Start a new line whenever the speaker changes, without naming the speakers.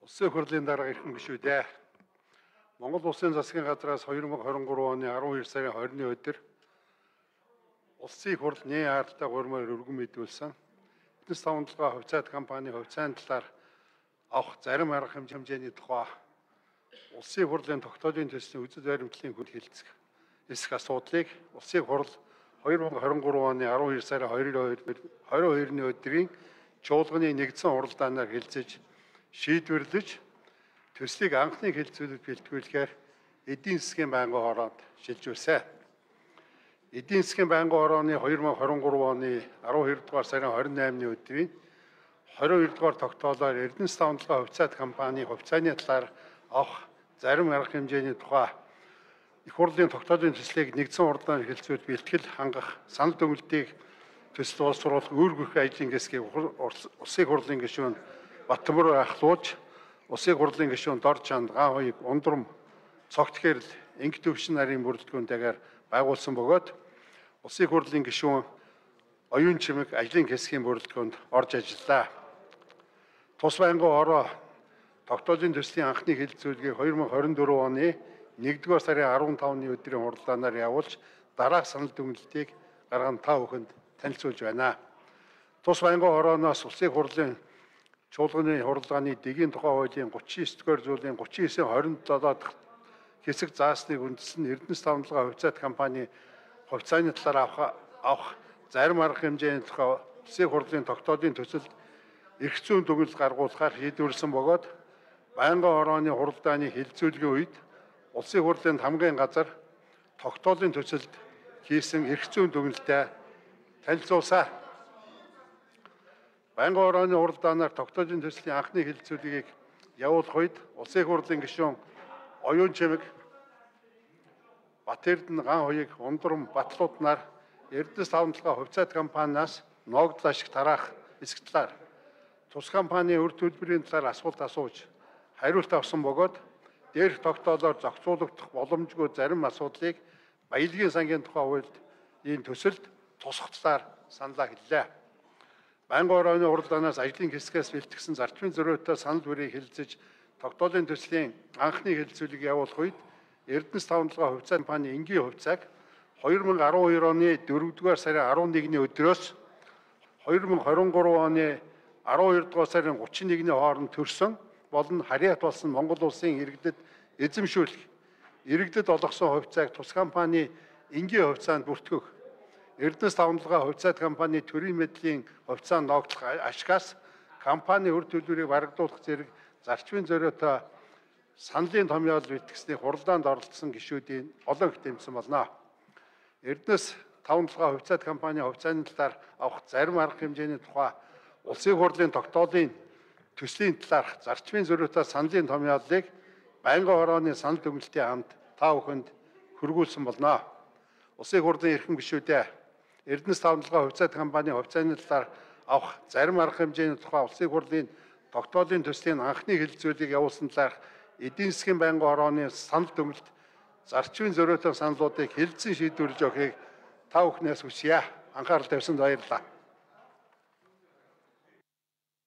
Улсын хурлын дарга ирхэн гишүүдээ Монгол Улсын засгийн газраас 2023 оны 12 сарын 20-ны өдөр Улсын хурл нээ хаалттай гурмаар өргөн мэдүүлсэн эднэс тавталгаа хувьцаат компани хувьцааны талаар авах зарим арга хэмжээний тухай Улсын хурлын тогтоолын төслийн үзэл баримтлалын хүнд хэлцэх эсэх асуудлыг Улсын хурл 2023 оны 12 сарын 22-ны өдрийн чуулганы нэгдсэн хуралдаанаар хэлцэж шийдвэрлэж төслийг анхны хэлцүүлэлд бэлтгүүлэхээр эдийн засгийн байнгын хороонд шилжүүлсэн. Эдийн засгийн байнгын хорооны 2023 оны 12 дугаар сарын 28-ны өдрийн 22 дугаар тогтоолоор Эрдэнэс тавталгаа хувьцаат компани хувьцааны талаар авах зарим арга хэмжээний тухай их хурлын тогтоолын төслийг нэгдсэн хуралдаанаар хэлцүүлж бэлтгэл хангах санал дүгнэлтийг төсөл боловсруулах үүргэх ажлын хэсгийг Улсын хурлын гишүүн Баттамбар ахлуулж Улсын хурлын гишүүн Дор Чанд Гаан хоёрыг ундрам цогт хэрэл инг төвшин нарийн бүрэлдэхүүнтэйгээр байгуулсан бөгөөд Улсын хурлын гишүүн оюун чимэг ажлын хэсгийн бүрэлдэхүүнд орж ажиллаа. Тус байнгын хороо тогтоолын төслийн анхны хэлэлцүүлгийг 2024 оны 1-р сарын 15-ны өдрийн хуралдаанаар явуулж дараах санал дүгнэлтийг гарган та бүхэнд танилцуулж байна. Тус байнгын хорооноос Улсын хурлын чуулганы хуралдааны дэгийн тухай хуулийн 39-р зүйлийн 39-27 дахь хэсэг заасныг үндэслэн Эрдэнэс тавталгаа хувьцаат компани хувьцааны талаар авах зарим арга хэмжээний тухай Улсын хурлын тогтоолын төсөлд эрх зүйн дүгнэлт гаргуулахаар шийдвэрлсэн бөгөөд байнгын хорооны хуралдааны хэлэлцүүлгийн үед Улсын хурлын хамгийн газар тогтоолын төсөлд хийсэн эрх зүйн дүгнэлтээ танилцуулсан. Байнгын хорооны хуралдаанаар тогтоолын төслийн анхны хэлэлцүүлгийг явуулах үед Улсын хурлын гишүүн оюун чимэг Бат Эрдэнэ Гаан хоёрыг ундрам батлууд нар Эрдэнэс тавталгаа хувьцаат компаниас ногдол ашиг тараах эсэх талаар тус компанийн үр төлбөрийн талаар асуулт асууж хариулт авсан бөгөөд дээрх тогтоолоор зохицуулагдах боломжгүй зарим асуудлыг баялагын сангийн тухай хуульд энэ төсөлд тусах талаар саналаа хэллээ. Байнгын хорооны хуралдаанаас ажлын хэсгээс бэлтгэсэн зарчмын зориутой санал бүрийг хэлэлцэж тогтоолын төслийн анхны хэлэлцүүлгийг явуулах үед Эрдэнэс тавталгаа хувьцаат компани энгийн хувьцааг 2012 оны 4-р сарын 11-ний өдрөөс 2023 оны 12-р сарын 31-ний хооронд төрсөн болон харьяат болсон Монгол улсын иргэдэд эзэмшүүлэх, иргэдэд олгосон хувьцааг тус компани энгийн хувьцаанд бүртгэх, Эрдэнэс тавталгаа хувьцаат компани төрийн мэдлийн хувьцаанд ногдлох ашигаас компани үр төлбөрийг барагдуулах зэрэг зарчмын зориутой саналын томьёол бэлтгэсний хуралдаанд оролцсон гишүүдийн олон их дэмжсэн болно. Эрдэнэс тавталгаа хувьцаат компани хувьцааны талаар авах зарим арга хэмжээний тухай Улсын хурлын тогтоолын төслийн талаарх зарчмын зориутой саналын томьёолыг байнгын хорооны санал дүгнэлтийн хамт та бүхэнд хүргүүлсэн болно. Улсын хурлын эрхэм гишүүдээ Эрдэнэс тавталгаа хувьцаат компани хувьцааны талаар авах зарим арга хэмжээний тухай Улсын хурлын тогтоолын төслийн анхны хэлэлцүүлгийг явуулсан талаарх эдийн засгийн байнгын хорооны санал дүгнэлт зарчмын зориутой саналуудыг хэлэлцэн шийдвэрлэж өгөхийг та бүхнээс хүсье. Анхаарал тавьсанд баярлалаа.